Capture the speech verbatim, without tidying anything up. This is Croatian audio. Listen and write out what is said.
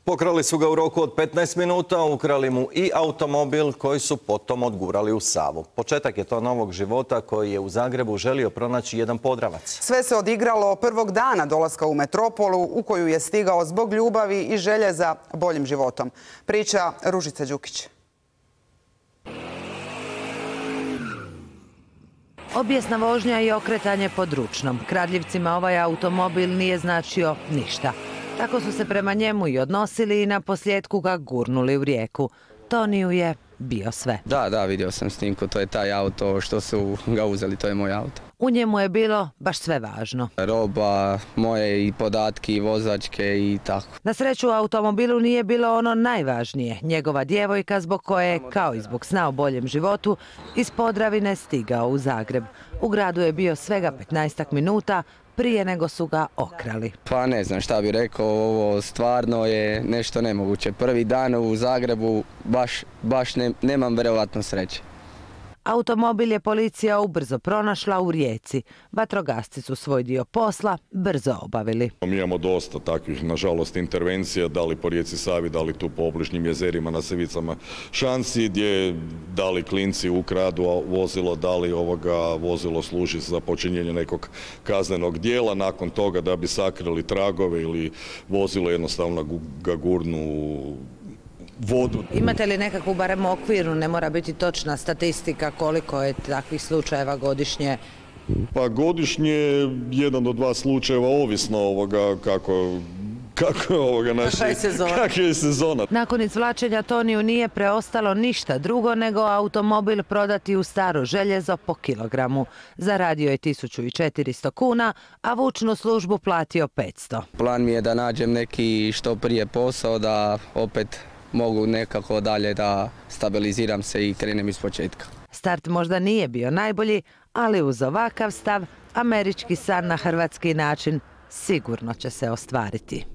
Pokrali su ga u roku od petnaest minuta, ukrali mu i automobil koji su potom odgurali u Savu. Početak je to novog života koji je u Zagrebu želio pronaći jedan Podravac. Sve se odigralo prvog dana dolaska u metropolu u koju je stigao zbog ljubavi i želje za boljim životom. Priča Ružica Đukić. Obijesna vožnja i okretanje pod ručnom. Kradljivcima ovaj automobil nije značio ništa. Tako su se prema njemu i odnosili i na posljedku ga gurnuli u rijeku. Toniju je bio sve. Da, da, vidio sam snimku, to je taj auto što su ga uzeli, to je moj auto. U njemu je bilo baš sve važno. Roba, moje i podatke i vozačke i tako. Na sreću u automobilu nije bilo ono najvažnije. Njegova djevojka zbog koje je, kao i zbog sna o boljem životu, iz Podravine stigao u Zagreb. U gradu je bio svega petnaestak minuta prije nego su ga okrali. Pa ne znam šta bih rekao, ovo stvarno je nešto nemoguće. Prvi dan u Zagrebu baš, baš ne, nemam vjerovatno sreće. Automobil je policija ubrzo pronašla u Rijeci. Vatrogasci su svoj dio posla brzo obavili. Mi imamo dosta takvih, nažalost, intervencija, da li po rijeci Savi, da li tu po obližnjim jezerima na Sevicama Šansi, gdje da li klinci ukradu vozilo, da li ovoga vozilo služi za počinjenje nekog kaznenog dijela, nakon toga da bi sakrili tragove ili vozilo jednostavno ga gurnu vodu. Imate li nekakvu barem okvirnu, ne mora biti točna statistika koliko je takvih slučajeva godišnje? Pa godišnje jedan do dva slučajeva, ovisno ovoga kako kako je ovoga naši, kakva je sezona. Nakon izvlačenja Toniju nije preostalo ništa drugo nego automobil prodati u staro željezo po kilogramu. Zaradio je tisuću četiristo kuna, a vučnu službu platio petsto. Plan mi je da nađem neki što prije posao, da opet mogu nekako dalje da stabiliziram se i krenem iz početka. Start možda nije bio najbolji, ali uz ovakav stav američki san na hrvatski način sigurno će se ostvariti.